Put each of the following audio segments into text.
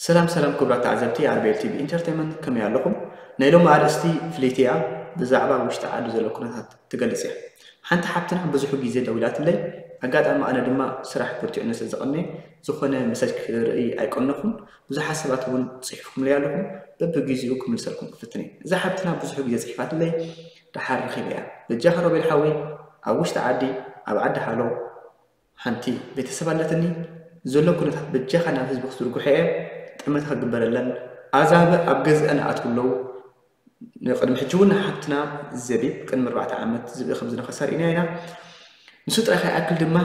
ሰላም ሰላም ክቡራት ተዓዘብቲ ኣርቤል ቲቪ ኢንተርቴይንመንት፣ ከመይ ኣለኹም? ናይ ሎሚ ኣርእስቲ ፍልይቲ እያ። ብዛዕባ ውሽጢ ዓዲ ዘሎ ኩነታት ትገልጽ እያ። ሓንቲ ሓብትና ብዙሕ ግዜ ደዊላትለይ፣ ኣጋጣሚ ኣነ ድማ ስራሕ ብርቲዑኒ ስለ ዝቐነየ ዝኾነ መሰጅ ክርኢ ኣይቀነኹን። ብዙሓት ሰባት እውን ጽሒፍኩምለይ ኣለኹም። በብግዜኡ ክምልሰልኩም ክፍትን እየ። እዛ ሓብትና ብዙሕ ግዜ ጽሒፋትለይ፣ ደሓር ረኺበያ። በጃኻ ሮቤል ሓወይ፣ ኣብ ውሽጢ ዓዲ፣ ኣብ ዓዲ ሃሎ፣ ሓንቲ ቤተሰብ ኣለትኒ። ዘሎ ኩነታት በጃኻ ናብ ህዝቢ ክትዝርግሖ እየ። ጠመተ ክግበረለን። ኣዛብእ ኣብ ገዝአን ኣትው ኣለዉ። ንቅድሚ ሕጂ እውን ሓብትና ዘቢብ ቅድሚ ኣርባዕተ ዓመት ዝብኢ ከም ዝነኸሳ ርኢና ኢና። ንሱ ጥራይ ከይኣክል ድማ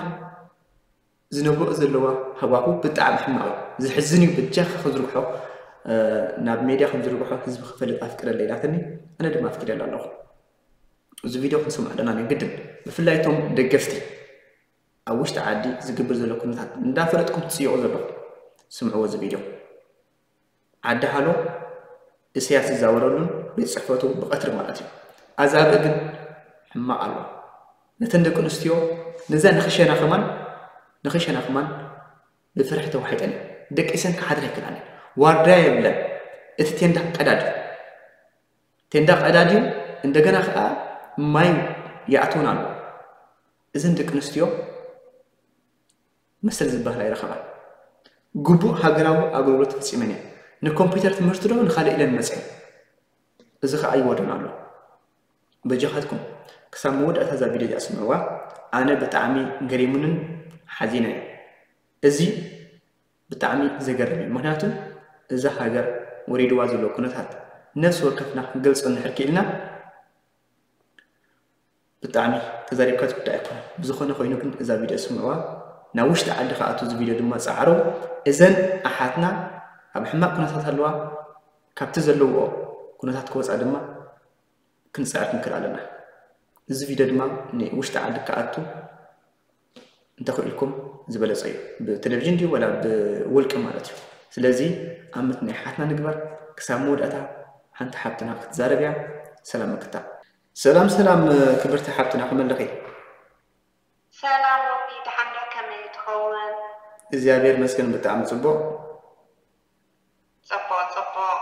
ዝነብሮ ዘለዋ ሃዋሁ ብጣዕሚ ሕማቕ እዩ። ዘሕዝን እዩ። በጃኻ ክዝርግሖ፣ እ፣ ናብ ሜድያ ከም ዝርግሖ ህዝቢ ክፈልጥ ኣፍቅደለይ ኢላትኒ። ኣነ ድማ ኣፍቅደላ ኣለኹ። እዚ ቪድዮ ክንሰምዖ ኣለና፣ ናይ ግድን። ብፍላይ እቶም ደገፍቲ ኣብ ውሽጢ ዓዲ ዝግበር ዘሎ ኩነታት እንዳፈለጥኩም ትጽይቑ ዘለኹም፣ ስምዕዎ እዚ ቪድዮ። ዓዲ ሃሎ፣ እሰያስ ዝዛወረሉን ቤት ጽሕፈቱ ብቐትሪ ማለት እዩ። ኣዛብእ ግን ሕማቕ ኣሎ። ነተን ደቂ ኣንስትዮ ነዛ ንኽሸና ከማን፣ ንኽሸና ከማን ብፍርሒ ተዋሒጠን እየን። ደቂሰን ክሓድራ ኣይክእላን እየን። ዋርድያ የብለን። እቲ ቴንዳ ቀዳድ እዩ። ቴንዳ ቀዳድ እዩ። እንደገና ከኣ ማይ ይኣትወን ኣሎ። እዘን ደቂ ኣንስትዮ መሰል ዝበሃል ኣይረኸባን። ግቡእ ሃገራዊ ኣገልግሎት ፈጺመን እየን። ንኮምፒውተር ትምህርቲ ዶ ንኻልእ ኢለን መጽየን። እዚ ኸኣ ይወደን ኣሎ። በጃኻትኩም ክሳብ መወዳእታ እዛ ቪድዮ እዚኣ ስምዕዋ። ኣነ ብጣዕሚ ገሪሙንን ሓዚነ እየ። እዚ ብጣዕሚ ዘገርም እዩ። ምኽንያቱ እዛ ሃገር ወሪድዋ ዘሎ ኩነታት ነፍሲ ወከፍና ክንገልጾ እንድሕር ክኢልና ብጣዕሚ ተዛሪብካ ዝጉዳእ ኣይኮነን። ብዝኾነ ኮይኑ ግን እዛ ቪድዮ ስምዕዋ፣ ናብ ውሽጢ ዓዲ ክኣቱ እዚ ቪድዮ ድማ ጸዓሩ። እዘን ኣሓትና ኣብ ሕማቕ ኩነታት ኣለዋ። ካብቲ ዘለውኦ ኩነታት ክወጻ ድማ ክንጽዕር ክንክእል ኣለና። እዚ ቪድዮ ድማ ንውሽጢ ዓዲ ክኣቱ እንተኽኢልኩም ዝበለጸ እዩ። ብቴሌቪዥን ድዩ ወላ ብውልቂ ማለት እዩ። ስለዚ ኣምት ናይ ሓትና ንግበር። ክሳብ መወዳእታ ሓንቲ ሓብትና ክትዛረብ እያ። ሰላም ምክታ። ሰላም ሰላም ክብርቲ ሓብትና፣ ከመይ ኣለኺ? ሰላም ሮቢ፣ ደሓን ዶ? ከመይ ትኸውን? እግዚኣብሔር ይመስገን ብጣዕሚ ጽቡቕ። ጽቡቕ ጽቡቕ።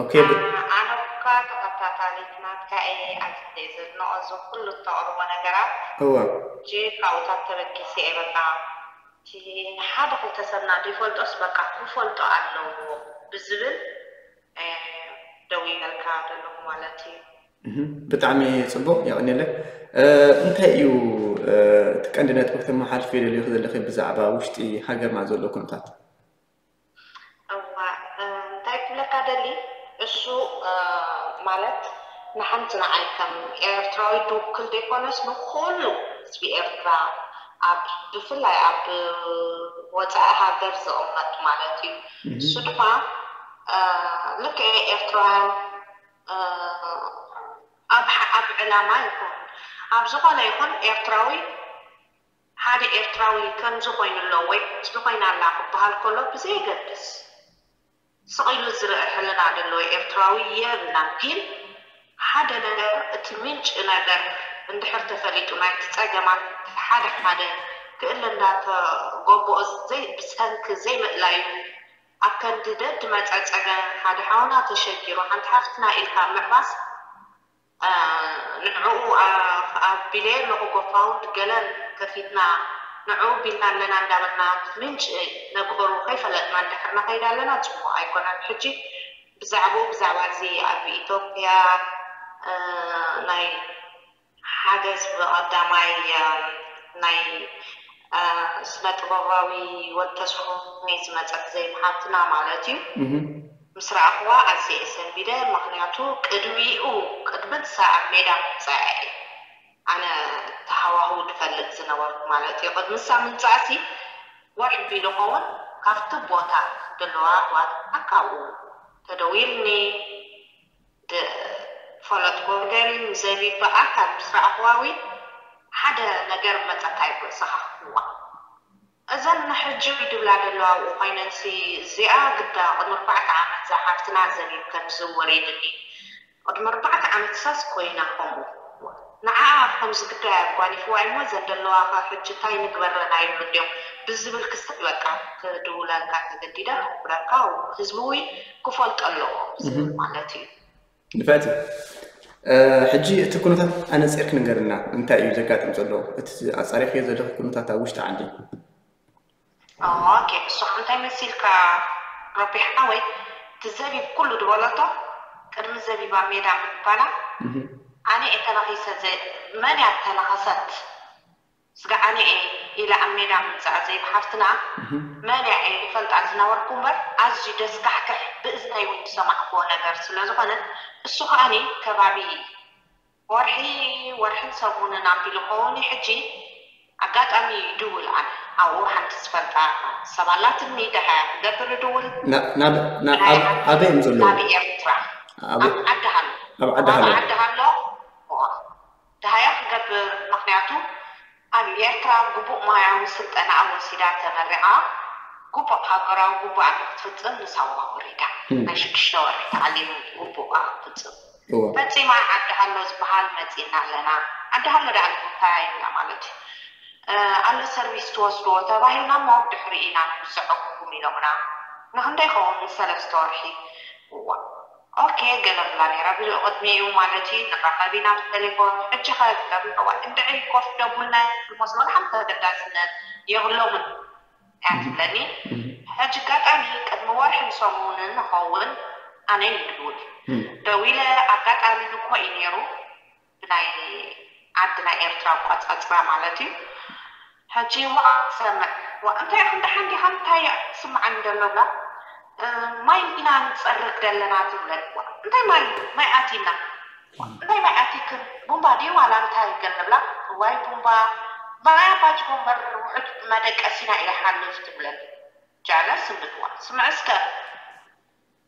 ኦኬ፣ ብ- ኣ-፣ ኣነ እኳ ተኸታታሊት ናትካ እየ፣ ኣዝየ ዘድንቖ እዚ ኩሉ እተቕርቦ ነገራት። እወ። ሕጂ ካብኡታት ተበጊሰ እየ፣ በቃ እቲ ሓደ ክልተ ሰብ ናዱ ይፈልጦስ በቃ ክፈልጦ ኣለዎ ብዝብል፣ እ፣ ደዊለልካ ዘለኹ ማለት እዩ። እህ፣ ብጣዕሚ ጽቡቕ፣ የቐንየለይ። እ፣ እንታይ እዩ፣ እ፣ እቲ ቀንዲ ነጥቢ ክተመሓላልፍዮ ደሊኺ ዘለኺ ብዛዕባ ውሽጢ ሃገርና ዘሎ ኩነታት? እዋ፣ እ፣ እንታይ ክብለካ ደሊ፣ እሱ፣ እ፣ ማለት ንሓንቲ ንዓይ ከም ኤርትራዊ ድውክል ዘይኮነስ ንኹሉ ህዝቢ ኤርትራ ኣብ፣ ብፍላይ ኣብ ወጻኢ ሃገር ዝቕመጥ ማለት እዩ። እህ። እሱ ድማ፣ እ፣ ልክዕ ኤርትራውያን፣ እ፣ ኣብ ሓ-፣ ኣብ ዕላማ ይኹን ኣብ ዝኾነ ይኹን ኤርትራዊ ሓደ ኤርትራዊ ከምዚ ኮይኑ ኣሎ ወይ ከምዚ ኮይና ኣላ ክበሃል ከሎ ብዘየገድስ፣ ስቕ ኢሉ ዝርኢ ሕልና ዘለዎ ኤርትራዊ የብልናን። ግን ሓደ ነገር፣ እቲ ምንጪ ነገር እንድሕር ተፈሊጡ፣ ናይቲ ጸገማት ሓደ ሓደ ክእለ እንዳተገበኦ ዘይ-፣ ብሰንኪ ዘይምእላዩ፣ ኣብ ከንዲ ደድ መጸ ጸገም ሓደ ሓውና ተሸጊሩ፣ ሓንቲ ሓፍትና ኢልካ ምዕባስ፣ እ፣ ንዕኡ፣ እ፣ ኣቢለ መጎፋውንድ ገለን ከፊትና ንዕኡ ቢልና ኣለና እንዳበልና ምንጪ ነገሩ ከይፈለጥና እንድሕር ንኸይድ ኣለና ጽቡቕ ኣይኮነን። ሕጂ ብዛዕባኡ፣ ብዛዕባ እዚ ኣብ ኢትዮጵያ፣ እ፣ ናይ ሓገዝ ብቐዳማይ፣ እ፣ ናይ፣ እ፣ ስነ ጥበባዊ ወድ ተስፉ ዝመጸት ዘይም ሓብትና ማለት እዩ። እህ። ምስ ረኣኽዋ ኣዝየ እየ ሰንቢደ። ምኽንያቱ ቅድሚኡ፣ ቅድሚ ንሳ ኣብ ሜዳ ምምጻኣ እየ ኣነ ተሃዋህው ዝፈልጥ ዝነበርኩ ማለት እዩ። ቅድሚ ንሳ ምምጻእሲ ወርሒ ቢሉ ኸውን ካብቲ ቦታ ዘለዋ ኣሕዋትና ካብኡ ተደዊልኒ፣ ድ-፣ ፈለጥኩ። ገሪም ዘቢብ ብኣካል ምስ ረኣኽዋ እውን ሓደ ነገር መጸካ እዩ ርእስኻ ክዋ። እዘን ንሕጂ ድብላ ዘለዋ ኣብኡ ኮይነንሲ፣ እዚኣ ግዳ ቅድሚ ኣርባዕተ ዓመት እዛ ሓፍትና ዘቢብ ከምዚ ወሪድኒ። ቅድሚ ኣርባዕተ ዓመት ሳስ ኮይና ከምኡ። ንዓኣ ከም ዝግዳያ ኣጓኒፍዋ እሞ፣ ዘን ዘለዋ ከ ሕጂ እንታይ ንግበረን ኣይብሉ እንድዮም ብዝብል ክስታይ፣ በቃ ክድውለልካ ተገዲደ፣ ክሕብረካ፣ ህዝቢ እውን ክፈልጦ ኣለዎ ዝብል ማለት እዩ። ንፍዕቲ፣ ሕጂ እቲ ኩነታት ኣነፂርክ ንገርና፣ እንታይ እዩ ዘጋጥም ዘሎ? እቲ ኣፃሪኽዮ ዘለኺ ኩነታት ኣብ ውሽጢ ዓዲ? ኦኬ፣ እሱ እንታይ መሲልካ ረቢሕ ሓወይ፣ እቲ ዘቢብ ኩሉ ዝበለቶ፣ ቅድሚ ዘቢባ ሜዳ ምባላ፣ ኣነ እየ ተነኺሰ፣ መን እያ ተነኸሰት? ስጋ ኣነ እየ ኢላ ኣብ ሜዳ ምምፃኣ ዘይብ ሓፍትና፣ መን እያ እየ ይፈልጣ ዝነበርኩ እምበር፣ ኣዝዩ ደስካሕክሕ፣ ብእዝነይ እውን ዝሰማዕክዎ ነገር ስለ ዝኾነ፣ እሱ ከዓኒ ከባቢ ወርሒ፣ ወርሕን ሰሙንን ኣቢሉ ከውን ሕጂ ኣጋጣሚ ይድውል። ኣነ ኣብኡ ሓንቲ ዝፈልጣ ሰብ ኣላትኒ፣ ደሃያ ክገብር እድውል። ኣበይ እዮም ዘለዉ? ናብ ኤርትራ። ኣብ ዓዲ ሃሎ። ኣብ ዓዲ ሃሎ። ዓዲ ሃሎ። ደሃያ ክገብር፣ ምክንያቱ ኣብ ኤርትራ ግቡእ ሞያዊ ስልጠና ወሲዳ ተመሪቓ፣ ግቡእ ሃገራዊ ግቡኣ ንክትፍጽም ንሳዋ ወሪዳ። ናይ ሽዱሽተ ወርሒ ታዕሊም ግቡኣ ክትፍጽም ፈጺማ። ዓዲ ሃሎ ዝበሃል መጺእና ኣለና። ዓዲ ሃሎ ደኣ እንታይ ኢልና ማለት እዩ? ኣሎ ሰርቪስ ትወስድዎ ተባሂልና እሞ ድሕሪ ኢና ንውስዐኩም ኢሎምና። ንክንደይ ኸውን? ንሰለስተ ወርሒ። እዋ ኦኬ ገለ ብላ ነይራ። ብቅድሚኡ ማለት እዩ ንራኸብ ኢና ብቴሌፎን። ሕጂ ከ ትገብርዋ እንድዒ ኮፍ ደቡልና ዝመስሎ ሓንቲ ተገዳስነት የብሎምን እያ ትብለኒ። ሕጂ ኣጋጣሚ ቅድሚ ወርሒ ንሰሙንን ንኸውን ኣነ ይድውል ደዊለ ኣጋጣሚ ንኮ እዩ ነይሩ ብናይ ዓዲ ናይ ኤርትራ ኣቋጻጽራ ማለት እዩ። ሕጂ ዋ ሰምዕ ዋ እንታይ ክንዲ ሓንዲኻ እንታይ ስምዓኒ ዘሎ ብላ ማይ ኢና ንጸርግ ዘለና ትብለኒ። ዋ እንታይ ማይ ማይ ኣቲና እንታይ ማይ ኣቲክን ቡምባ ድዩ ዋላ እንታይ ገለ ብላ እዋይ ቡምባ ማይ ኣባጅ ጎንበር ውሕድ መደቀሲና ኢለ ሓልፍ ትብለኒ። ጃለ ስምዕዋ ስምዕ እስከ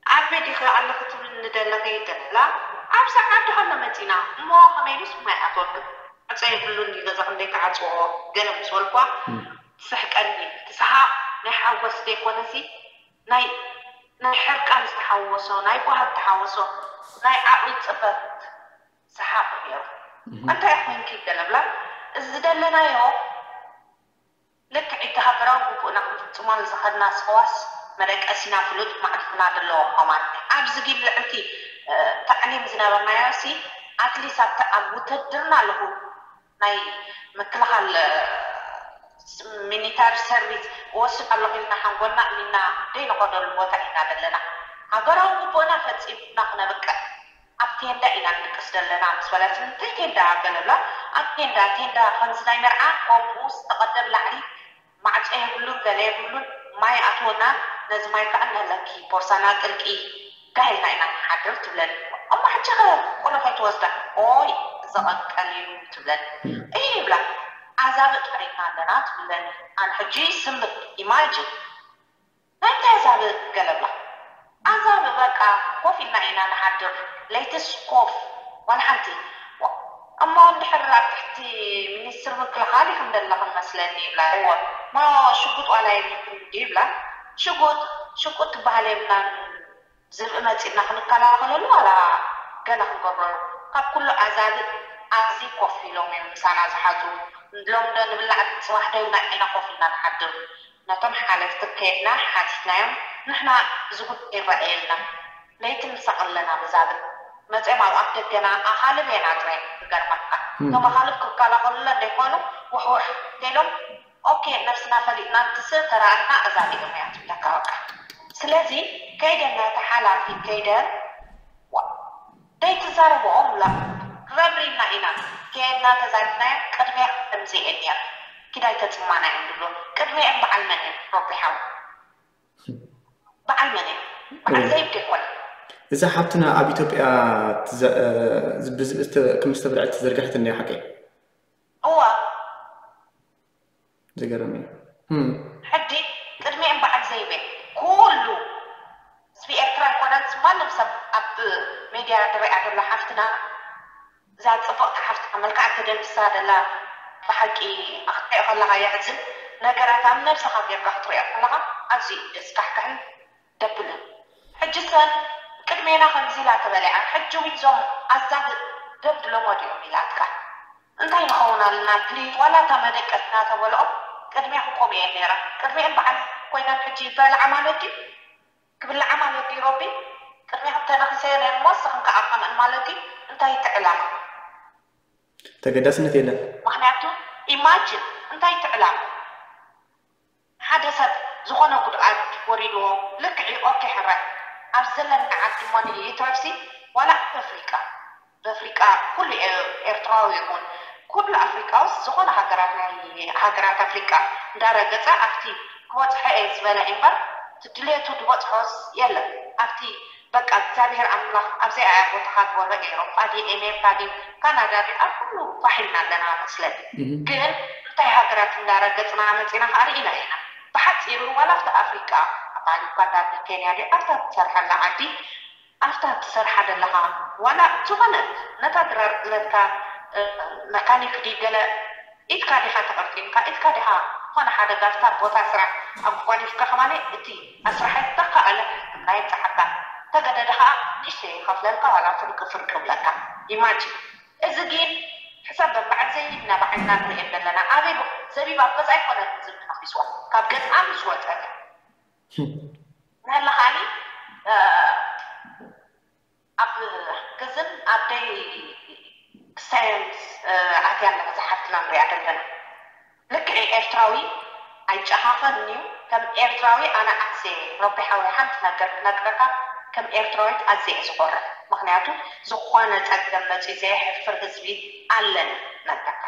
ኣበይ ዲኺ ኣለኺ ትብልኒ ደለኺ ገለ ብላ ኣብ ሰዓት ደሃሎ መፂና እሞ ከመይ ኢሉስ ማይ ኣትወልቅ ዕፀ የብሉን እዩ ገዛ ክንደይ ክዓፅዎ ገለ ምስ በልኳ ትስሕቀኒ ትስሓቕ ናይ ሓጎስ ዘይኮነሲ ናይ ናይ ሕርቃን ዝተሓወሶ ናይ ጓሃ ዝተሓወሶ ናይ ዓቕሊ ፅበት ሰሓቕ ነይሩ። እንታይ ኮይንኪ ገለ ብላ እዚ ዝደለናዮ ልክዕ እቲ ሃገራዊ ግቡእና ክንፍጽሞ ንዝኸድና ሰዋስ መደቀሲና ፍሉጥ ማዕድና ዘለዎ ኸማን ኣብዚ ጊል ልዕልቲ ታዕሊም ዝነበርናዮ ሲ ኣትሊስ ኣብቲ ኣብ ውትድርና ኣለኹ ናይ ምክልኻል ሚኒታሪ ሰርቪስ እወስድ ኣለኹ ኢልና ሓንጎልና እሚና ደይንኸደሉ ቦታ ኢና ዘለና። ሃገራዊ ግቡእና ፈጺምና ክነብቅዕ ኣብ ቴንዳ ኢና ንድቅስ ዘለና ምስ በለት እንታይ ቴንዳ ገለ ብላ ኣብ ቴንዳ ቴንዳ ከምዚ ናይ መርዓ ከምኡ ዝተቐደብ ላዕሊ ማዕጾ የብሉን ገለ የብሉን ማይ ኣትወና ነዚ ማይ ከዓ ነለኪ ቦርሳና ጥልቂ ጋሂልና ኢና ንሓድር ትብለኒ እሞ ሕጂ ከ ቆሎ ከይትወስዳ ኦይ ዘቐቀል እዩ ትብለኒ እይ ይብላ ኣዛብእ ጠሪፍና ኣለና ትብለኒ ኣነ ሕጂ ስምዕ ኢማጅን ናይ እንታይ ኣዛብእ ገለ ብላ ኣዛብእ በቃ ኮፍ ኢልና ኢና ንሓድር ለይትስ ኮፍ ዋላ ሓንቲ እሞ እንድሕር ኣብ ትሕቲ ሚኒስትር ምክልኻል ኢኹም ዘለኹም መስለኒ ይብላ እወ ሞ ሽጉጥ ዋላ የብልኩም ድዩ ይብላ ሽጉጥ ሽጉጥ ትበሃል የብልናን ዝብኢ መፂእና ክንከላኸለሉ ዋላ ገለ ክንገብረሉ ካብ ኩሉ ኣዛብእ ኣብዚ ኮፍ ኢሎም እዮም ምሳና ዝሓድሩ ሎሚ ዶ ንብላዕ ፅባሕ ዶ ኢልና ኢና ኮፍ ኢልና ንሓድር ነቶም ሓለፍቲ ከይድና ሓቲትናዮም ንሕና እዚ ጉዳይ ይረኣየልና ለይቲ ንሳቕ ኣለና ብዛብእ መፅኦም ኣብ ኣፍ ደገና ኣኻልብ እየን ኣጥረየን ክገርመካ እቶም ኣኻልብ ክከላኸሉለን ዘይኮኑ ውሕውሕ ኢሎም ኦኬ ነብስና ፈሊጥና እንትስእ ተራእና እዛ ኢሎም እያ ትብለካ በቃ ስለዚ ከይደን ናይቲ ሓላፊ ከይደን ደይትዛረብኦ ምላ ረብሪና ኢና ከየድና ተዛሪብናዮ ቅድሚያ ከምዚ እየን ነይረን ኪድ ኣይተፅማና እዮም ዝብሉ ቅድሚአን በዓል መን እየን ረቢሓዊ በዓል መን እየን በዓል ዘይብድ ኣይኮነ እዛ ሓብትና ኣብ ኢትዮጵያ ከም ዝተብርዐት ተዘርጋሕት እኒኣ ሓቂ እዋ ዝገርም እዩ ሕጂ ቅድሚአን በዓል ዘይበ ኩሉ ህዝቢ ኤርትራ ኣይኮነን ማንም ሰብ ኣብ ሜድያ ዝሪኣ ዘሎ ሓፍትና እዛ ፅብቕቲ ሓፍትና መልክዓ ተደምሳ ዘላ ብሓቂ ክትሪኦ ከለካ የሕዝን ነገራት ኣብ ነብስካ ጌርካ ክትሪኦ ከለካ ኣዝዩ እዩ ደስካሕክሕን ደብልን ሕጂ ሰን ቅድሜና ከምዚ ኢላ ተበሊዓ ሕጂ እውን ዞም ኣዛብ ደብድሎሞ ድዮም ኢላትካ እንታይ ንኸውን ኣለና ፕሊዝ? ዋላ እታ መደቀስና ተበልኦ ቅድሚያ ክቆም እየ ነይራ። ቅድሚአን በዓል ኮይነን ሕጂ ይበልዓ ማለት ድዩ? ክብልዓ ማለት ድዩ? ረቢ ቅድሚያ ተነኺሰ ነርሞ ስኽን ከኣ ከምእን ማለት ድዩ? እንታይ እቲ ዕላማ? ተገዳስነት የለን። ምክንያቱ ኢማጅን እንታይ እቲ ዕላማ? ሓደ ሰብ ዝኾነ ጉድኣት ወሪድዎ ልክዕ ኦኬ ሕራይ ኣብ ዘለና ዓዲ ሞኒ ይትረፍሲ ዋላ ኣብ ኣፍሪቃ በፍሪቃ ኩሉ ኤርትራዊ ይኹን ኩሉ ኣፍሪቃ ውስ ዝኾነ ሃገራት ናይ ሃገራት ኣፍሪቃ እንዳረገጸ ኣብቲ ክበጽሖ እየ ዝበለ እምበር እቲ ድሌቱ ዝበጽሖስ የለን ኣብቲ በቃ እግዚኣብሔር ኣምላኽ ኣብዚኣ እያ ቦታኻ ዝበሎ ኤሮጳ ድዩ ኣሜሪካ ድዩ ካናዳ ድዩ ኣብ ኩሉ ፋሕ ኢልና ኣለና መስለኒ ግን እንታይ ሃገራት እንዳረገጽና መጺና ከዓ ርኢና ኢና ብሓጺሩ ዋላ ኣብቲ ኣፍሪቃ ኣባል ዩጋንዳ ኬንያ ድዩ ኣብታ ትሰርሐላ ዓዲ ኣብታ ትሰርሓ ዘለኻ ዋላ ዝኾነ ነታ ድራር ጥለትካ መካኒክ ድዩ ገለ ኢድካ ዲኻ ተቐርጢምካ ኢድካ ዲኻ ዝኾነ ሓደጋ ኣብታ ቦታ ስራሕ ኣጓኒፍካ ከማነ እቲ ኣስራሓይ ተኻእለ ሕክምና የብፅሓካ ተገደደ ከዓ ንእሽተይ ይኸፍለልካ ዋላ ፍርቂ ፍርቂ ይብለካ ኢማጅን እዚ ግን ሕሰብ በዓል ዘቢብ ኢና ብዓይንና ንሪኤን ዘለና ኣበይ ዘቢብ ኣብ ገዛ ኣይኮነትን ዝብል ተነኺስዋ ካብ ገዛ ምስ ወፀ ንሕና ከዓኒ ኣብ ግዝን ኣብ ደይ ክሳየንስ ኣትያ ኣለና ዝሓፍትና ንሪኣ ዘለና ልክዕ ኤርትራዊ ኣይጨኻኸን እዩ ከም ኤርትራዊ ኣነ ኣዝየ ረቢ ሓወይ ሓንቲ ነገር ክነግረካ ከም ኤርትራዊት ኣዝየ እየ ዝኮርዕ ምክንያቱ ዝኾነ ፀገም መፅዩ ዘየሕፍር ህዝቢ ኣለና ነግረካ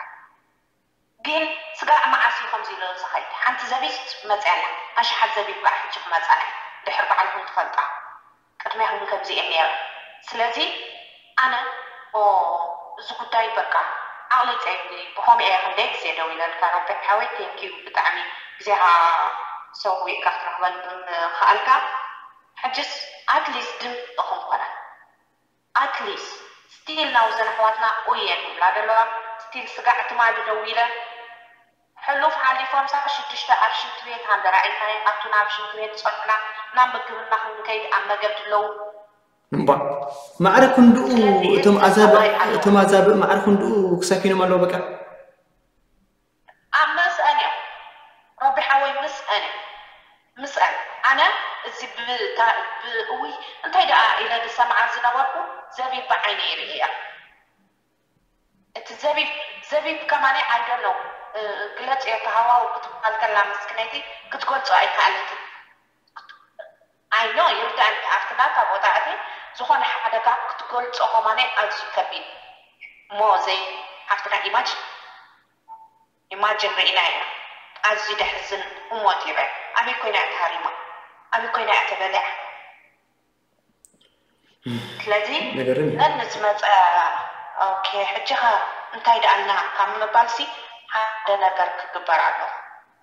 ግን ስጋዕ መዓስ እዩ ከምዚ ኢሉ ዝኸይድ ሓንቲ ዘቢብ መፅያ ኣላ ኣሽሓት ዘቢብ ከዓ ሕጂ ክመፃና እዩ ድሕር በዓልኩም ትፈልጣ ቅድሚያኹም ከምዚ እየ ነይረ ስለዚ ኣነ እዚ ጉዳይ በቃ ዓቕሊ ፀይኒ ብኸምኡ እየ ክንደይ ግዜ ደው ኢለልካ ረቢ ሓወይ ቴንኪዩ ብጣዕሚ ግዜኻ ሰዊእካ ክትረኽበኒ ምኽኣልካ ሕጅስ ኣትሊስት ድምፂ ክንኮና ኣትሊስት ስቲል ናውዘን ኣሕዋትና ኡየን ይብላ ዘለዋ ስቲል ስጋዕ ትማሊ ደው ኢለ ሕሉፍ ሓሊፎም ሳዕ ሽዱሽተ ኣብ ሽንቲ ቤት ሃንደራ ኢልናዮም ኣቱና ኣብ ሽንቲ ቤት ዝፀንሑና ናብ ምግብና ክንከይድ ኣብ መገዲ ኣለዉ እምባ ማዕረ ክንድኡ እቶም ኣዛብእ እቶም ኣዛብእ ማዕረ ክንድኡ ክሳኪኖም ኣለዉ በቃ ኣብ መስአን እዮም ረቢ ሓወይ ምስአን እዮም ምስአን ኣነ እዚ ብእውይ እንታይ ደኣ ኢለ ዝሰምዓ ዝነበርኩ ዘቢብ ብዓይነ ይርኢ እያ እቲ ዘቢብ ዘቢብ ከማኒ ኣይደለው ግለጽ እየ ተሃዋው ክትበሃል ከላ ምስክነይቲ ክትገልጾ ኣይከኣለትን ኣይ ኖ ይርዳእኒ ኣብቲ ናታ ቦታ እቲ ዝኾነ ሓደጋ ክትገልጾ ከማኒ ኣዝዩ ከቢድ እሞ ዘይ ሓፍትና ኢማጅን ኢማጅን ርኢና ኢና ኣዝዩ ደሕዝን ህሞት ይረ ኣበይ ኮይና እያ ተሃሪማ ኣበይ ኮይና እያ ተበሊዓ ስለዚ ነገርም እዩ ነን ዝመፀ ኦኬ ሕጂ ኸ እንታይ ደኣልና ካብ ምባልሲ ሓደ ነገር ክግበር ኣሎ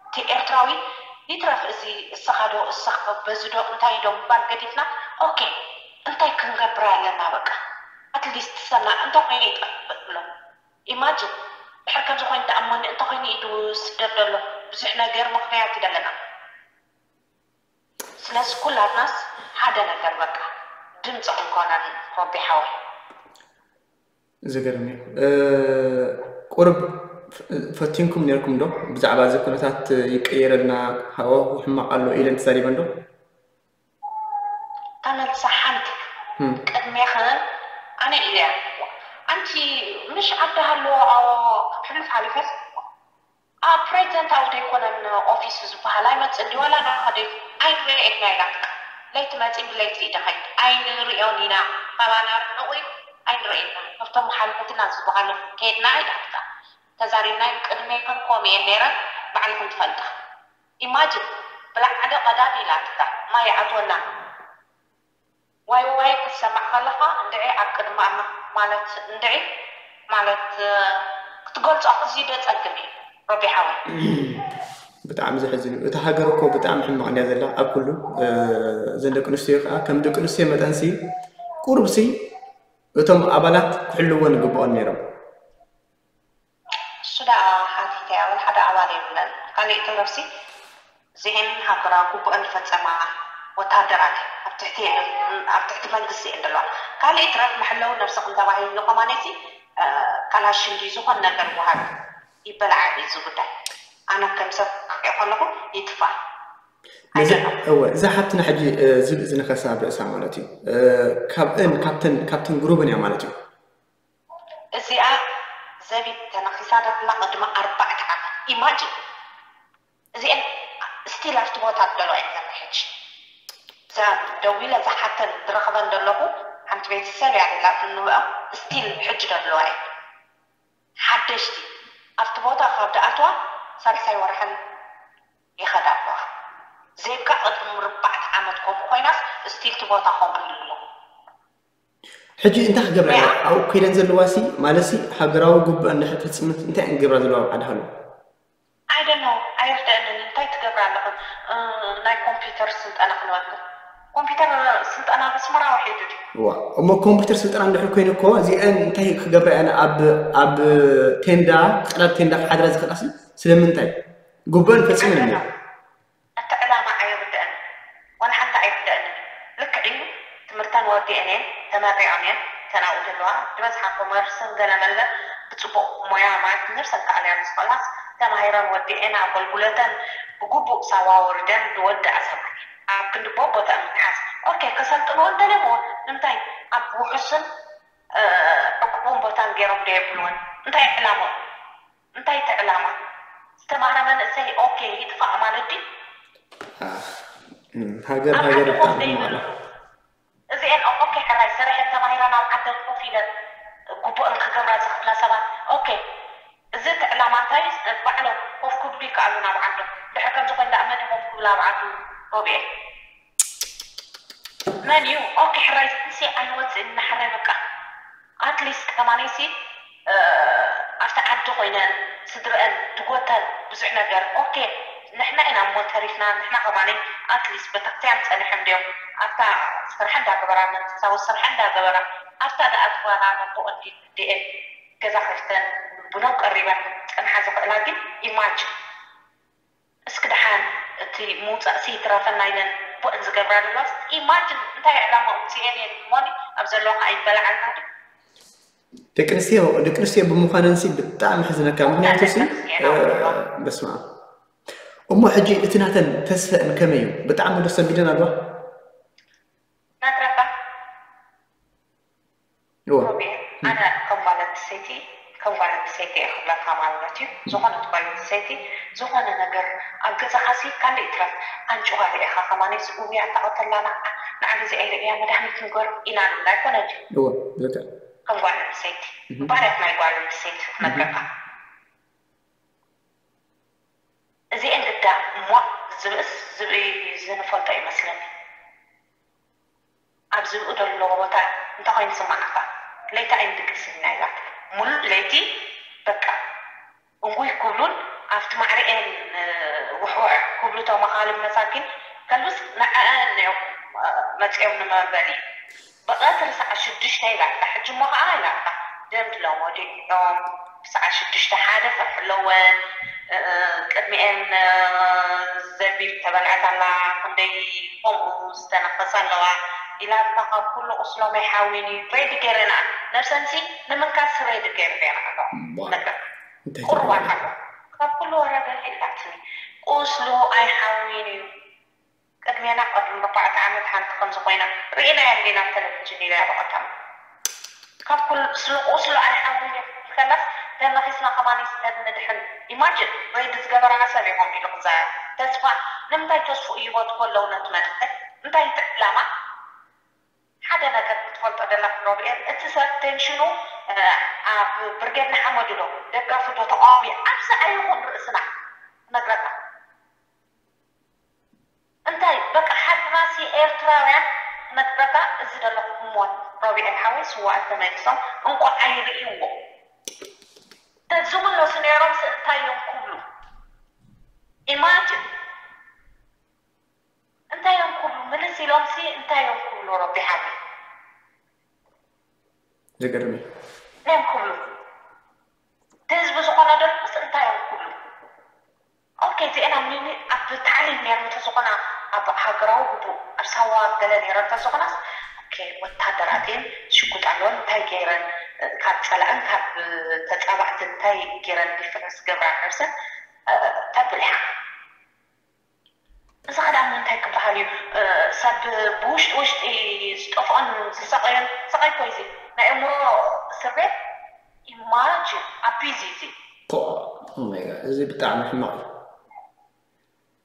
እቲ ኤርትራዊ ይትረፍ እዚ እሰኻ ዶ እሰኻ በዚ ዶ እንታይ ዶ ምባል ገዲፍና ኦኬ እንታይ ክንገብር ኣለና በቃ ኣትሊስት ሰና እንተ ኮይነ ይጠፍእ ብሎ ኢማጅን ድሕር ከምዚ ኮይኑ ደኣ እሞኒ እንተ ኮይኑ ኢዱ ስደት ዘሎ ብዙሕ ነገር ምኽንያት እዩ ዘለና ስለዚ ኩላትናስ ሓደ ነገር በቃ ድምፂ ክንኮነን ረቢ ሓወይ ዝገርም እዩ ቁርብ ፈቲንኩም ነርኩም ዶ ብዛዕባ እዚ ኩነታት ይቀየረልና ሃወ ሕማቕ ኣሎ ኢለን ተዛሪበን ዶ ተመልሳ ሓንቲ ቅድሜኸ ኣነ ኢለያ ኣንቲ ምሽ ዓዲ ሃለዎ ሕሉፍ ሓሊፈስ ኣብ ፕሬዚደንት ኣውደ ኣይኮነን ኦፊስ ዝበሃል ኣይመፅእ ድዩ ዋላ ናኸደ ኣይንሪኦ ኢና ኢላ ለይቲ መፂ ብለይቲ ይደኸይድ ኣይንሪኦን ኢና ካባና ርሕቑ እዩ ኣይንሪኦ ኢና ካብቶም ሓለፈትና ዝበሃሉ ከየድና ኢላትካ ተዛሪብና ቅድሜ ከም ከምኡ እየን ነይረን ባዕልኹም ትፈልጣ ኢማጅን ብላዕሊ ቀዳድ ኢላትካ ማይ ይኣትወና ዋይ ዋይ ክትሰማዕ ከለኻ እንድዒ ኣብ ቅድሚ ኣምላኽ ማለት እንድዒ ማለት ክትገልጾ ኣዝዩ ደጸግም እዩ ረቢ ሓወይ። ብጣዕሚ ዘሕዝን እዩ። እታ ሃገር እኮ ብጣዕሚ ሕማቕ እንድያ ዘላ ኣብ ኩሉ። እዘን ደቂ ኣንስትዮ ከዓ ከም ደቂ ኣንስትዮ መጠንሲ ቁሩብሲ እቶም ኣባላት ክሕልወን ይግብኦን ነይሮም። እሱ ደኣ ሓቲተ እያ፣ ወላ ሓደ ኣባል የብለን። ካልእ ትምህርቲ እዚኤን ሃገራዊ ግቡአን ዝፈጸማ ወታደራት ኣብ ትሕቲ ኣብ ትሕቲ መንግስቲ እየን ዘለዋ። ካልእ ትረፍ መሐለዊ ነብስኽን ተባሂሉ ከማነሲ ካላሽን ድዩ ዝኾነ ነገር ወሃቢ ይበላዓ እዩ እዚ ጉዳይ። ኣነ ከም ሰብ ክሪኦ ከለኹ ይጥፋ እወ እዛ ሓብትና ሕጂ ዝብኢ ዝነኸሳ ኣብ ርእሳ ማለት እዩ። ካብእን ካብተን ግሩብን እያ ማለት እዩ። እዚኣ ዘቢብ ተነኺሳ ደላ ቅድሚ ኣርባዕተ ዓመት ኢማጅን እዚአን ስቲል ኣብቲ ቦታ ደለዋ እየን ዘላ ሕጂ። እዛ ደዊለ ዝሓተን ዝረኽበን ዘለኹ ሓንቲ ቤተሰብ እያ ደላ እንብኦም ስቲል ሕጂ ደለዋ እየን። ሓደሽቲ ኣብቲ ቦታ ካብ ደኣትዋ ሳልሳይ ወርሐን ይኸዳ ኣለዋ። ዜብካ ቅድሚ ርባዕተ ዓመት ከምኡ ኮይናስ ስቲል እቲ ቦታ ከምኡ ኢሉ ኣሎ። ሕጂ እንታይ ክገብራ እያ ኣብኡ ከይደን ዘለዋ ሲ ማለት ሲ ሃገራዊ ግቡእ እንድሕር ፈፂመት እንታይ እየን ክገብራ ዘለዋ ኣብ ዓዲ ሃሎ? I don't know ኣይርደአንን እንታይ ትገብራ ኣለኽን? ናይ ኮምፒውተር ስልጠና ክንበልኩም ኮምፒውተር ስልጠና በስመራ ውሒዱ ድዩ? ዋ እሞ ኮምፒውተር ስልጠና እንድሕር ኮይኑ እኮ እዚአን እንታይ ክገብራ እየን ኣብ ኣብ ቴንዳ ቀረብ ቴንዳ ክሓድራ ዝኽእላ ሲ ስለምንታይ? ግቡእን ፈፂመን እሞ እቲ ዕላማ ኣይርደአንን ዋላ ሓንቲ ኣይርደአንን። ልክዕ እዩ ትምህርተን ወዲአን እየን ተመሪቐን እየን እተን ኣብኡ ዘለዋ ዝበዝሓ ኮመርስን ገለ መለ ብፅቡቕ ሞያ ማለት ነብሰን ከኣልያ ዝኽእላስ ተማሂረን ወዲአን ኣገልጉለተን ብግቡእ ሳዋ ወሪደን ዝወድኣ ሰብኣይ እየን ኣብ ክንዲ ቦቦተአን ምትሓዝ ኦኬ ከሰልጥንወን ደልየምወን ንምንታይ ኣብ ውሑስን ዕቁቡን ቦታን ገይሮም ዶ የብልወን እንታይ ዕላምኦም እንታይ እቲ ዕላማ? ዝተማህረ መንእሰይ ኦኬ ይጥፋእ ማለት ድዩ? ሃገር ሃገር ብጣዕሚ ማለት እዚአን ኦኬ ሕራይ ሰሪሐን ተማሂረን ኣብ ዓደን ኮፍ ኢለን ግቡእን ክገብራ ዝኽእላ ሰባት ኦኬ እዚ እቲ ዕላማ እንታይ ባዕሎም ኮፍ ክብሉ ይከኣሉ ናብ ዓዶም ድሕር ከምዚ ኮይን ደኣ መን ኮፍ ክብሉ ኣብ ዓዱ ሮብኤል መን እዩ ኦኬ ሕራይ ሲ ኣይወፅእን እናሕረ በቃ ኣትሊስት ከማነይሲ ኣብቲ ዓዲ ኮይነን ስድረአን ድጎተን ብዙሕ ነገር ኦኬ ንሕና ኢና እሞ ተሪፍና ንሕና ከማነይ ኣትሊስት ቤተክርስትያን ፀኒሖም ድዮም ኣብታ ስራሕ እንዳገበራ መንፈሳዊ ስራሕ እንዳገበራ ኣብታ ደኣ ትባና ነቦ እንዲ ድኤን ገዛ ከፍተን ቡኖም ቀሪበን ፀንሓ ዝኽእላ ግን ኢማጅን እስኪ ደሓን እቲ ምውፃእሲ ይትረፈና ኢለን ቦእን ዝገብራ ዘለዋስ ኢማጅን እንታይ ዕላማ ውፅኤን እየን እሞኒ ኣብ ዘለዋ ከዓ ይበላዓልና ዶ ደቂ ኣንስትዮ ደቂ ኣንስትዮ ብምዃነንሲ ብጣዕሚ ሕዝነካ ምክንያቱ ሲ በስማ እሞ ሕጂ እቲ ናተን ተስፈአን ከመይ እዩ ብጣዕሚ ዶ ሰንቢደን ኣለዋ ነግረካ ሮቤል ኣነ ከም ጓል ኣንስተይቲ ከም ጓል ኣንስተይቲ እየ ክብለካ ማለት እዩ። ዝኾነት ጓል ኣንስተይቲ ዝኾነ ነገር ኣብ ገዛኻሲ ካልእ ይትረፍ ኣንጭዋ ርኢኻ ከማነይስ እውይ ኣታ ቀተላ ንዓ ንዓ ግዜ ኣይርእያ መድሃኒት ንገር ኢና ንብላ ኣይኮነን ድዩ? እወ ልክዕ። ከም ጓል ኣንስተይቲ ባህርያት ናይ ጓል ኣንስተይቲ ክነግረካ። እዚኤን ግዳ ሟእ ዝብእስ ዝብኢ ዝንፈልጦ ይመስለኒ። ኣብ ዝብኢ ደለዎ ቦታ እንታይ ኮይኑ ዝስማዓካ? ለይቲ ኣይንድቅስን ኢና ኢላ። ሙሉእ ለይቲ በቃ እንጉይ ክብሉን ኣብቲ ማዕሪኤን ውሕውሕ ክብሉ ተመኻልም መሳኪን ከልብስ ንዐአን እዮም መፅኦም ንመበሊ። ብቐትሪ ሰዓት ሽዱሽተ ኢላትካ፣ ሕጂ እሞ ኸዓ ኢላትካ፣ ደም ድለዎ ድዮም? ብሰዓት ሽዱሽተ ሓደ ፍርሒ ኣለወን፣ ቅድሚኤን ዘቢብ ተበልዐት ኣላ፣ ክንደይ ከምኡ ዝተነኸሳ ኣለዋ ኢላትካ፣ ካብ ኩሉ ቁስሎም ኣይሓዊን እዩ፣ ሬዲ ገይረን፣ ነብሰንሲ ንምንካስ ሬዲ ገይረን ኣለዋ፣ ነገር ቁርባን ኣሎ፣ ካብ ኩሉ ወረደ ኢላትኒ፣ ቁስሉ ኣይሓዊን እዩ። ቅድሜና ቅድሚ ኣርባዕተ ዓመት ሓንቲ ከምዚ ኮይና ርኢናያ እንዲና ኣብ ተለቪጅን ኢለያ ብቐዳም ካብ ኩሉ ስለ ቁስሉ ኣይሓዊን እዩ ከላስ ተነኺስና ከማን ይስተን ንድሕን ኢማጅን ሬድ ዝገበረና ሰብ ኢኹም ኢሉ ክዛረብ ተስፋ ንምንታይ ተስፉ ይቦት ከለዉ ነቲ መንእሰይ እንታይ እቲ ዕላማ ሓደ ነገር ክትፈልጦ ደላ ክሮብኤል እቲ ሰብ ቴንሽኑ ኣብ ብርጌድ ንሓመዱ ዶ ደጋፊ ዶ ተቃዋሚ ኣብዚ ኣይኹን ርእስና ክነግረካ እንታይ በቃ ሓድናሲ ኤርትራውያን ክነግረካ እዚ ዘለኹ እሞት ሮቢኤል ሓወይ ስዋኣት ተመሊሶም እንቋዕ ኣይርእይዎ ተዝምለሱ ነይሮም ሲ እንታይ እዮም ክብሉ ኢማጅን እንታይ እዮም ክብሉ ምልስ ኢሎም ሲ እንታይ እዮም ክብሉ ረቢ ሓወይ ዘገርም እዩ እንታይ እዮም ክብሉ እቲ ህዝቢ ዝኾነ ደርኩስ እንታይ እዮም ክብሉ ኦኬ እዚአን ኣብ ሚኒ ኣብ ታዕሊም ነይረን ተዝኾና ኣብ ሃገራዊ ግቡእ ኣብ ሳዋ ገለ ነይረን ተዝኾናስ ኦኬ ወታደራት እየን ሽጉጥ ኣለወን እንታይ ገይረን ካብ ጸላእን ካብ ተጻባእትን እንታይ ገይረን ዲፈረንስ ገብራ ነብሰን ተብል ኢኻ። እዚ ክዳን እንታይ ክበሃል እዩ? ሰብ ብውሽጢ ውሽጢ ዝጠፍኦን ዝሰቀዮን ስቃይ እኮ እዩ እዚ። ናይ ኣእምሮ እስር ቤት ኢማጅን ኣቢዝ እዩ እዚ። እዚ ብጣዕሚ ሕማቕ እዩ።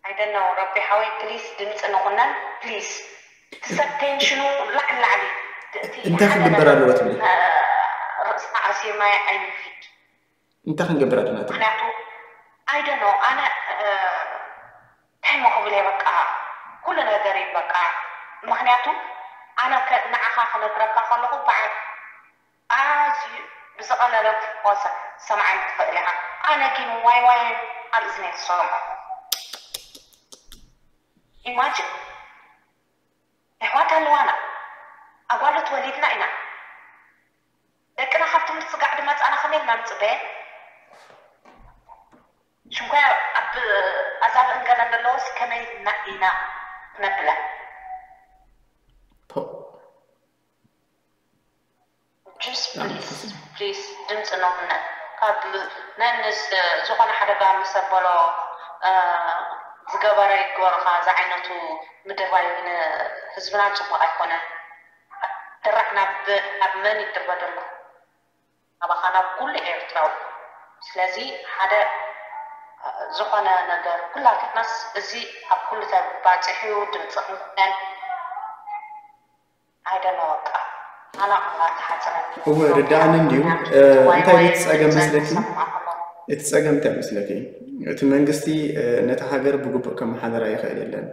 I don't know ረቢ ሓወይ ፕሊስ ድምፂ ንኹነን ፕሊስ። እቲ ሰብ ቴንሽኑ ላዕሊ ላዕሊ እቲ እንታይ ሓደ ክግበር ነገር ኣለዎ ትብሊ? ርእስና ኣሲርና ኣይንፊድ። እንታይ ክንገብር ኣለና ትብሊ? ምክንያቱ I don't know ኣነ እንታይ ሞ ክብል እየ በቃ ኩሉ ነገር እዩ በቃ። ምክንያቱ ኣነ ከ- ንዓኻ ክነግረካ ከለኹ በዓል ኣዝዩ ብዝቐለለ ፎሰ ሰምዓኒ ትኽእል ኢኻ። ኣነ ግን ዋይ ዋይ ኣብ እዝነይ ዝሰምዖ ኢማጅን ኣሕዋት ኣለዋና ኣጓልት ወሊድና ኢና። ደቅና ካብ ትምህርቲ ስጋዕ ድመፃና ከመይ ኢልና ንፅበየን? ሽንኳያ ኣብ ኣዛብእን ገለን ዘለዎስ ከመይ ኢልና ኢና ክነብለን? ፖ- ጅስ ፕሊስ ፕሊስ ድምፂ ነውነ ካብ ነንስ ዝኾነ ሓደጋ ምስ ኣበሎ ዝገበረ ይግበሩኻ። እዚ ዓይነቱ ምድርባይ ንህዝብና ፅቡቅ ኣይኮነን። ድራዕ ናብ ናብ መን ይድርበ ዘሎ? ኣባኻ ናብ ኩሉ ኤርትራዊ። ስለዚ ሓደ ዝኾነ ነገር ኩላትናስ እዚ ኣብ ኩሉ ተባፂሑ ድምፂ ክንኮነን ኣይደለ በቃ ኣና ኣላ ተሓፅረኒ እወ ርዳእኒ እንድዩ። እንታይ እቲ ፀገም መስለኪ? እቲ ፀገም እንታይ መስለኪ? እቲ መንግስቲ ነቲ ሃገር ብግቡእ ከመሓደራ ይኽእል የለን።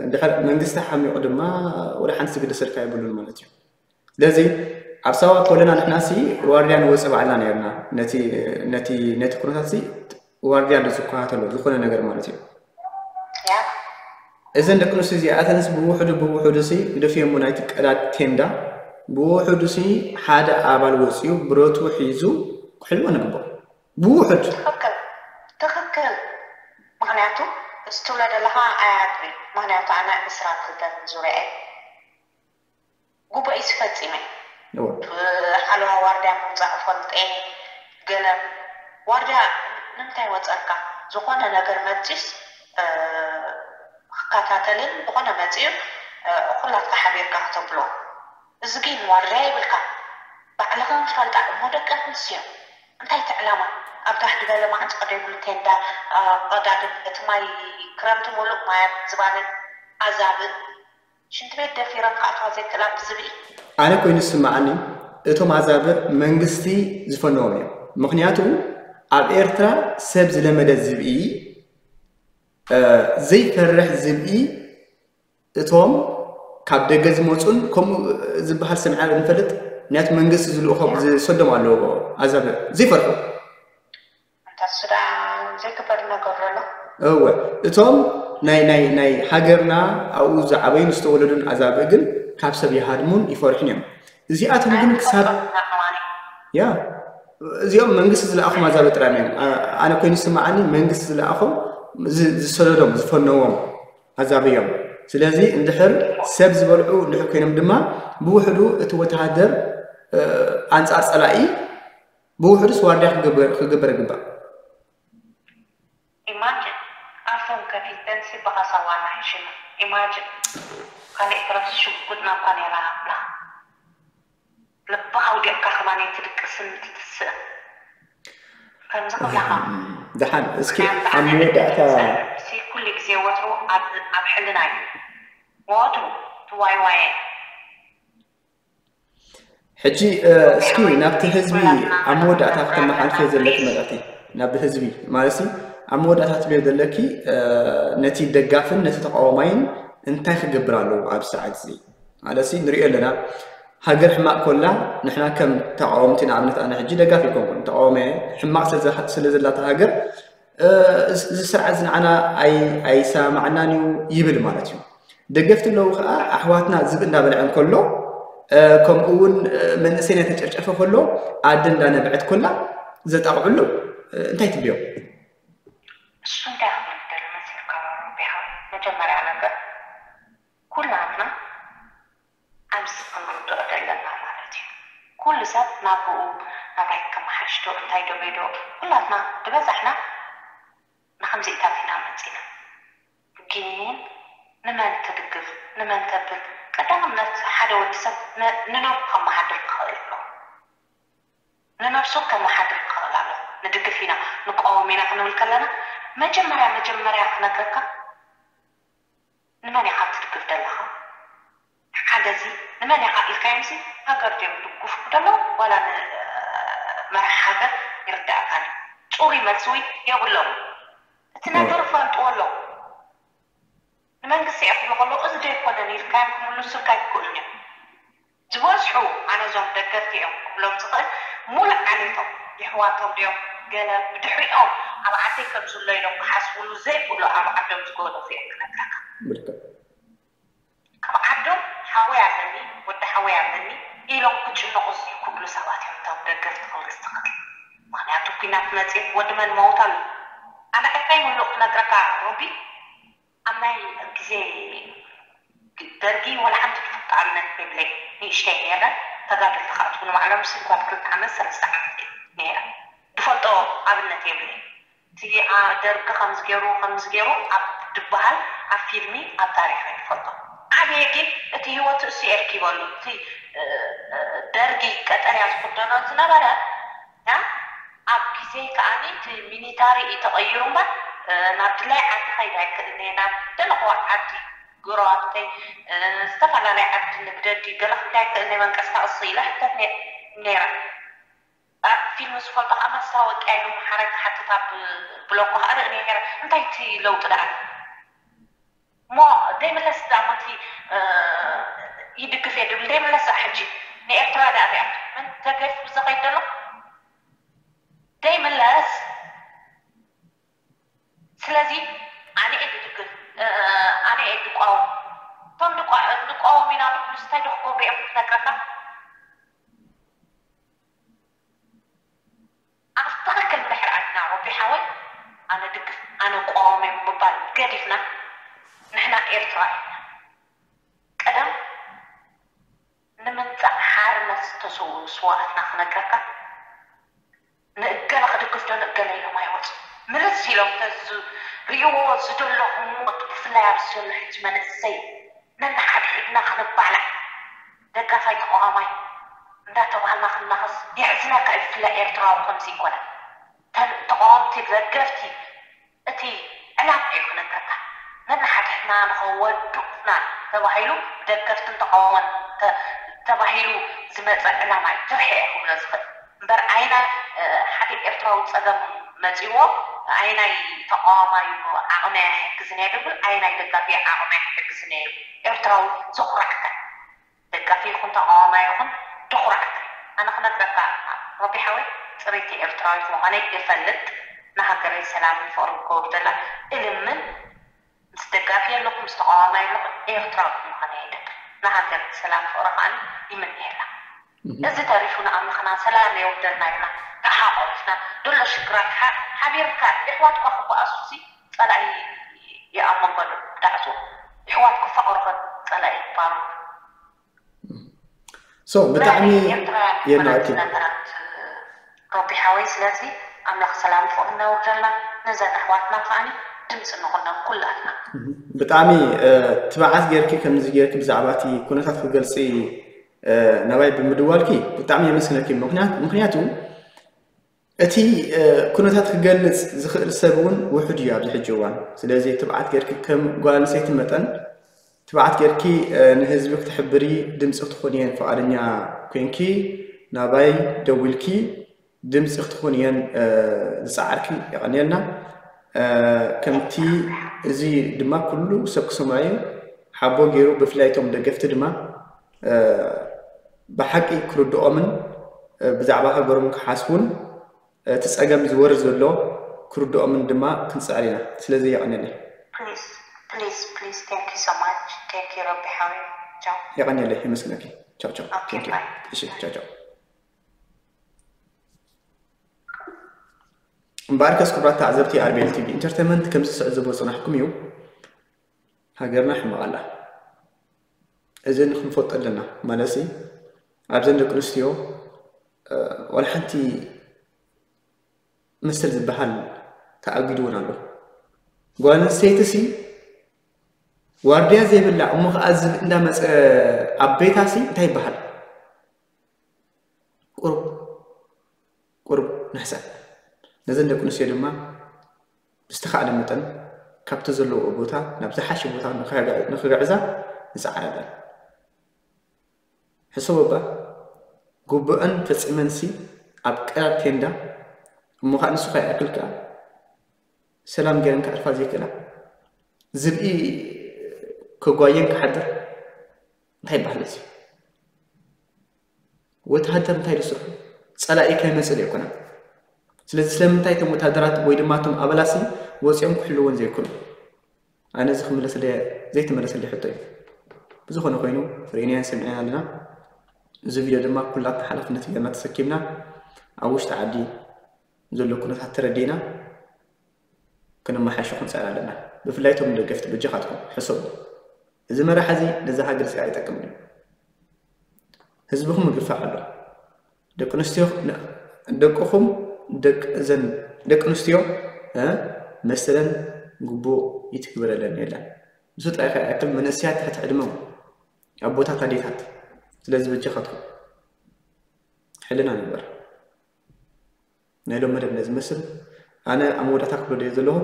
እንድሕር መንግስቲ ሓሚቑ ድማ ወደ ሓንቲ ዝግደሰልካ የብሉን ማለት እዩ። ስለዚ ኣብ ሳዋ ኮለና ንሕናሲ ዋርድያ ንወፅእ ባዕልና ነርና ነቲ ነቲ ነቲ ኩነታት ሲ ዋርድያ ኣሎ ዝከታተሎ ዝኾነ ነገር ማለት እዩ። እዘን ደቂ ኣንስትዮ እዚኣተንስ ብውሕዱ ብውሕዱ ሲ ግደፍዮሞ ናይቲ ቀዳድ ቴንዳ ብውሕዱ ሲ ሓደ ኣባል ወፅዩ ብረቱ ሒዙ ክሕልዎ ንግቦ ብውሕድ ትኽክል ትኽክል። ምክንያቱ እዚ ትብሎ ዘለካ ኣያድሪ ምክንያቱ ኣነ ዕስራን ክልተን ዙርያ እየ ጉቦ እዩ ዝፈፂመ ሓለዋ ዋርድያ ምውፃእ ፈልጠ ገለ ዋርድያ ንምንታይ ወፀካ ዝኾነ ነገር መፂስ ክከታተልን ዝኾነ መፂኡ ኩላትካ ሓቢርካ ክተብሎ እዚ ግን ዋርድያ ይብልካ ባዕልኽን ፈልጣ እሞ ደቂ ኣንስትዮ እንታይ እቲ ዕላማ ኣብ ጋሕዲ ገለ ማዕፆ ደይብሉ ቴንዳ ቀዳድም እቲ ማይ ክረምቲ ሙሉእ ማያት ዝባነ ኣዛብእ ሽንቲ ቤት ደፊረን ክኣትዋ ዘይክእላ ብዝብኢ። ኣነ ኮይኑ ዝስምዓኒ እቶም ኣዛብእ መንግስቲ ዝፈነዎም እዮም። ምኽንያቱ ኣብ ኤርትራ ሰብ ዝለመደ ዝብኢ ዘይፈርሕ ዝብኢ እቶም ካብ ደገ ዝመፁን ከምኡ ዝበሃል ሰሚዕና ንፈልጥ ምክንያቱ መንግስቲ ዝልእኾም ዝሰዶም ኣለዎ ኣዛብእ ዘይፈርሑ ኣንታ ሱዳን ዘይግበር ነገር ኣሎ እወ እቶም ናይ ናይ ናይ ሃገርና ኣብኡ ዝዓበዩን ዝተወለዱን ኣዛብእ ግን ካብ ሰብ ይሃድሙን ይፈርሑን እዮም። እዚኣቶም ግን ክሳብ ያ እዚኦም መንግስቲ ዝለኣኹም ኣዛብእ ጥራይ እዮም። ኣነ ኮይኑ ዝስምዓኒ መንግስቲ ዝለኣኹም ዝሰደዶም ዝፈነዎም ኣዛብእ እዮም። ስለዚ እንድሕር ሰብ ዝበልዑ እንድሕር ኮይኖም ድማ ብውሕዱ እቲ ወተሃደር ኣንፃር ፀላኢ ብውሕዱስ ዋርድያ ክግበር ይግባእ። ኢማጅን ኣፎም ከፊተን ሲ ብሃሳዋና ይሽኑ ኢማጅን ካልእ ኤርትራስ ሽጉጥ ናብ ካሜራ ሃብላ ልብኻ ኣውዲቕካ ከማን ትድቅስን ትትስእን ከምዚ ክብላኻ ደሓን እስኪ ኣብ መወዳእታ ሲ ኩሉ ግዜ ወትሩ ኣብ ሕልና እዩ ወትሩ ትዋይዋየ ሕጂ እስኪ ናብቲ ህዝቢ ኣብ መወዳእታ ከተመሓልፍዮ ዘለኪ መልእኽቲ ናብቲ ህዝቢ ማለት ኣብ መወዳእታ ትብዮ ዘለኪ ነቲ ደጋፍን ነቲ ተቃዋማይን እንታይ ክገብር ኣለዎ ኣብ ሰዓት እዚ ማለት ንሪኦ ኣለና ሃገር ሕማቕ ኮላ ንሕና ከም ተቃወምቲ ንኣብነት ኣነ ሕጂ ደጋፊ ኣይኮንኩን ተቃወመ ሕማቕ ስለ ዘላታ ሃገር እዚ ስርዓት እዚ ንዓና ኣይሰማማዓናን እዩ ይብል ማለት እዩ። ደገፍቲ ኣለዉ ከዓ ኣሕዋትና ዝብኢ እንዳበልዐ እንከሎ ከምኡ እውን መንእሰይ እናተጨፍጨፈ ከሎ ኣደ እንዳነብዐት ኮላ ዘጣቕዑ ኣለዉ። እንታይ ትብልዮም? እሱ እንታይ ክብል ደሊ መሲልካ ቢሃ መጀመርያ ነገር ኩላትና ኣብዚ ክንርድኦ ዘለና ማለት እዩ። ኩሉ ሰብ ናብኡ ናብራይ ከመሓሽዶ እንታይ ዶ ቤዶ ኩላትና ዝበዛሕና ንከምዚኢታት ኢና መፂና። ግን ንመን ትድግፍ ንመን ተብል? ቀዳምነት ሓደ ወዲ ሰብ ንነብሱ ከመሓድር ክኽእል ኣለዎ። ንነብሱ ከመሓድር ክኽእል ኣለዎ። ንድግፍ ኢና ንቃወም ኢና ክንብል ከለና መጀመርያ መጀመርያ ክነግረካ ንመን ኢኻ ትድግፍ ዘለኻ? ሓደ እዚ ንመን ኢኻ ኢልካዮም ሲ ሃገር ድዮም ድጉፍ ደሎ ዋላ ንመራሕ ሃገር ይርዳእካ ድዩ? ፁሩይ መልሲ እውን የብሎም። እቲ ነገር ፈልጥዎ ኣለዉ። ንመንግስቲ እየ ክብሉ ከለዉ እዚ ዶ ኣይኮነን ኢልካዮም ክምልሱልካ ኣይክእሉን እዮም። ዝበዝሑ ኣነ እዞም ደገፍቲ እዮም ክብሎም ዝኽእል ሙሉእ ዓሌቶም የሕዋቶም ድዮም ገለ ብድሕሪኦም ኣብ ዓደይ ከም ዝሎ ኢሎም ክሓስብሉ ዘይክእሉ ኣብ ዓዶም ዝገደፉ እዮም ክነግረካ። ካብ ዓዶም ሓወይ ኣለኒ ወዲ ሓወይ ኣለኒ ኢሎም ክጭነቑ ዘይክእሉ ሰባት እዮም እቶም ደገፍቲ ክብልስ ትኽእል። ምኽንያቱ ኲናት መፅእ ወዲ መን መውት ኣሎ። ኣነ እንታይ ምሉእ ክነግረካ ሮቢ ኣብ ናይ ግዜ ደርጊ ዋላ ሓንቲ ትፈልጦ ኣብነት የብለይ። ንእሽተይ ነይረ። ተጋደልቲ ከዓ ትኹኑ ባዕሎም ሲ ጓል ክልተ ዓመት ሰለስተ ዓመት እየ ነይረ። ዝፈልጦ ኣብነት የብለይ። እቲ ደርጊ ከምዚ ገይሩ ከምዚ ገይሩ ኣብ ዝበሃል ኣብ ፊልሚ ኣብ ታሪኽ እየ ዝፈልጦ። ዓብየ ግን እቲ ህይወት እሱ የርኪበሉ እቲ ደርጊ ቀጠርያ ዝኽደኖ ዝነበረ ያ ኣብ ግዜ ከኣኒ እቲ ሚኒታሪ እዩ ተቐይሩ እምበር ናብ ድላይ ዓዲ ከይድ ኣይክእልን እየ ናብ ደለኹዋ ዓዲ ጎረባብተይ ዝተፈላለየ ዓዲ ንግደዲ ገለ ክብላ ኣይክእልን እየ መንቀሳቐሲ ኢለ ሕተት ነይረ ኣብ ፊልም ዝፈልጦ ከዓ መስታወቅያ ኢሉ ሓረግ ክሓትት ኣብ ብሎኮ ከዓ ርኢ ነይረ እንታይ እቲ ለውጢ ደኣ እሞ ደይምለስ ዳሞ እቲ ይድግፍ እየ ድብል ደይምለስ ደኣ ሕጂ ንኤርትራ ደኣ ሪኣ መን ተገፍ ብዘኸይድ ዘሎ ደይምለስ ስለዚ ኣነ እየ ድድግፍ ኣነ እየ ድቋወም እቶም ድቋወም ኢና ድብሉስ እንታይ ዶ ክገብሩ እዮም ክትነግረካ ኣብ ትኽክል እንድሕር ኣድና ሮቢ ሓወይ ኣነ ድግፍ ኣነ ቋወም እዮም ምባል ገዲፍና ንሕና ኤርትራ ኢና ቀደም ንምምፃእ ሓርነት ዝተሰውኡ ስዋኣትና ክነግረካ ንእገለ ክድግፍ ዶ ንእገለ ኢሎም ኣይወፁ ምልስ ኢሎም ተዝርእይዎ ዝደለኹ ሞት ብፍላይ ኣብዚ ዘሎ ሕጂ መንእሰይ ነንሓድሕድና ክንባላዕ ደጋፋይ ተቃዋማይ እንዳተባሃልና ክንናኸስ የሕዝነካ እዩ ብፍላይ ኤርትራዊ ከምዚ ይኮነ ተቃወምቲ ደገፍቲ እቲ ዕላማ እዩ ክነግረካ ነንሓድሕድና ንኸወዱእና ተባሂሉ ብደገፍትን ተቃወሞን ተባሂሉ ዝመፀ ዕላማ እዩ ድርሐ እየ ክብሎ ዝኽእል እምበር ኣይናይ ሓደ ኤርትራዊ ፀገም መፂዎ ኣይናይ ተቃዋማዩ ዓቕሚ ኣይሕግዝን እየ ድብል ኣይናይ ደጋፊ ዓቕሚ ኣይሕግዝን እየ ኤርትራዊ ዘኹራዕካ ደጋፊ ይኹን ተቃዋማይ ይኹን ድኹራዕ ኣነ ክነግረካ ረቢ ሓወይ ፅሪቲ ኤርትራዊት ምዃነይ እፈልጥ ንሃገረይ ሰላምን ፍቕርን ክገብርደላ እልምን ምስ ደጋፊ ኣለኹ ምስ ተቃዋማይ ኣለኹ ኤርትራዊት ምዃነይ ይደብር ንሃገር ሰላም ፍቕሪ ከዓ ይምነየላ እዚ ተሪፉ ንኣምላኽና ሰላም የውርደልና ኢልና ተሓቆፍና ደሎ ሽግራት ሓቢርካ የሕዋትካ ክበኣሱሲ ጸላኢ ይኣመንበሉ ዳዕዞ የሕዋት ክፋቐሩ ጸላኢ ይባሩ so ብጣዕሚ የናቂ ረቢ ሓወይ ስለዚ ኣምላኽ ሰላም ፍቕሪ ነውርደልና ነዘን ኣሕዋትና ከዓኒ ድምፂ ንኹኖም ኩላትና ብጣዕሚ ትብዓት ጌርኪ ከምዚ ጌርኪ ብዛዕባ እቲ ኩነታት ክገልፂ ናባይ ብምድዋልኪ ብጣዕሚ የመስግነኪ ምክንያቱ እቲ ኩነታት ክገልፅ ዝኽእል ሰብ እውን ውሑድ እዩ ኣብዚ ሕጂ እዋን ስለዚ ትብዓት ጌርኪ ከም ጓል ኣንስተይቲ መጠን ትብዓት ጌርኪ ንህዝቢ ክትሕብሪ ድምፂ ክትኾንየን ፍቓደኛ ኮንኪ ናባይ ደዊልኪ ድምፂ ክትኾንየን ዝፀዓርኪ የቐንየልና ከምቲ እዚ ድማ ኩሉ ሰብ ክሰምዖ እዩ ሓቦ ገይሩ ብፍላይ እቶም ደገፍቲ ድማ ብሓቂ ክርድኦምን ብዛዕባ ሃገሮም ክሓስቡን እቲ ጸገም ዝወርድ ዘሎ ክርድኦምን ድማ ክንጽዕር ኢና። ስለዚ የቐንየለይ። የቐንየለይ። የመስግነኪ። ቻው ቻው። እሺ ቻው ቻው። እምበኣርከስ ክቡራት ተዓዘብቲ ኣርቤል ቲቪ ኢንተርቴንመንት ከምዚ ትዕዘብዎ ዝጸናሕኩም እዩ። ሃገርና ሕማቕ ኣላ። እዚ ንክንፈልጦ ኣለና። ማለትሲ ኣብዘን ደቂ ኣንስትዮ ዋላ ሓንቲ መሰል ዝበሃል ተኣጊዱ እውን ኣሎ። ጓል ኣንስተይቲ ሲ ዋርድያ ዘይብላ እሞ ከዓ ዝብኢ እንዳመፀ ኣብ ቤታ ሲ እንታይ ይበሃል? ቁሩብ ቁሩብ ንሕሰብ። ነዘን ደቂ ኣንስትዮ ድማ ብዝተኻእለ መጠን ካብቲ ዘለውኦ ቦታ ናብ ዝሓሸ ቦታ ንኽግዕዛ ንፅዓረለን። ሕሰቦ እባ፣ ግቡአን ፈፂመንሲ ኣብ ቀዳድ ቴንዳ እሞ ከዓ ንሱ ከይኣክል ከዓ ሰላም ገይረን ከዕርፋ ዘይክእላ፣ ዝብኢ ከጓየን ክሓድር እንታይ ይበሃል እዚ? ወተሃደር እንታይ ዝስርሑ? ፀላኢ ከይመፅእ ዘይኮነ። ስለዚ ስለምንታይ እቶም ወተሃደራት ወይ ድማ እቶም ኣባላሲ ወፂኦም ክሕልወን ዘይኮኑ? ኣነ እዚ ክምለሰለይ ዘይተመለሰለይ ሕቶ እዩ። ብዝኾነ ኮይኑ ርኢናዮን ሰሚዕናዮን ኣለና። እዚ ቪድዮ ድማ ኩላትና ሓላፍነት ጌርና ተሰኪምና ኣብ ውሽጢ ዓዲ ዘሎ ኩነታት ተረዲእና ክነመሓይሾ ክንፅዕር ኣለና። ብፍላይ እቶም ደገፍቲ በጃኻትኩም ሕሰቡ። እዚ መራሒ እዚ ነዛ ሃገር እዚኣ ኣይጠቅምን እዩ። ህዝብኹም ምግፋዕ ኣሎ። ደቂ ኣንስትዮ ደቅኹም ደቂ እዘን ደቂ ኣንስትዮ መሰለን ግቡእ ይትግበረለን የለን። ንሱ ጥራይ ከይኣክል መንእሰያት ትሕቲ ዕድመ ኣቦታት ኣዴታት። ስለዚ በጃኻትኩም ሕልና ንግበር። ናይ ሎም መደብ ነዚ መስል ኣነ ኣብ መወዳእታ ክብሎ ደየ ዘለኹ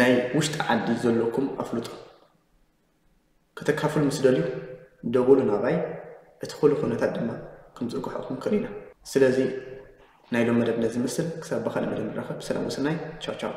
ናይ ውሽጢ ዓዲ ዘለኩም ኣፍልጦ ከተካፍሉ ምስ ደልዩ ደውሉ ናባይ። እቲ ኩሉ ኩነታት ድማ ከም ዝርግሐኩም ክርኢና። ስለዚ ናይ ሎም መደብ ነዚ መስል ክሳብ ብኻልእ መደብ ንራኸብ። ሰላም ወሰናይ። ቻው ቻው።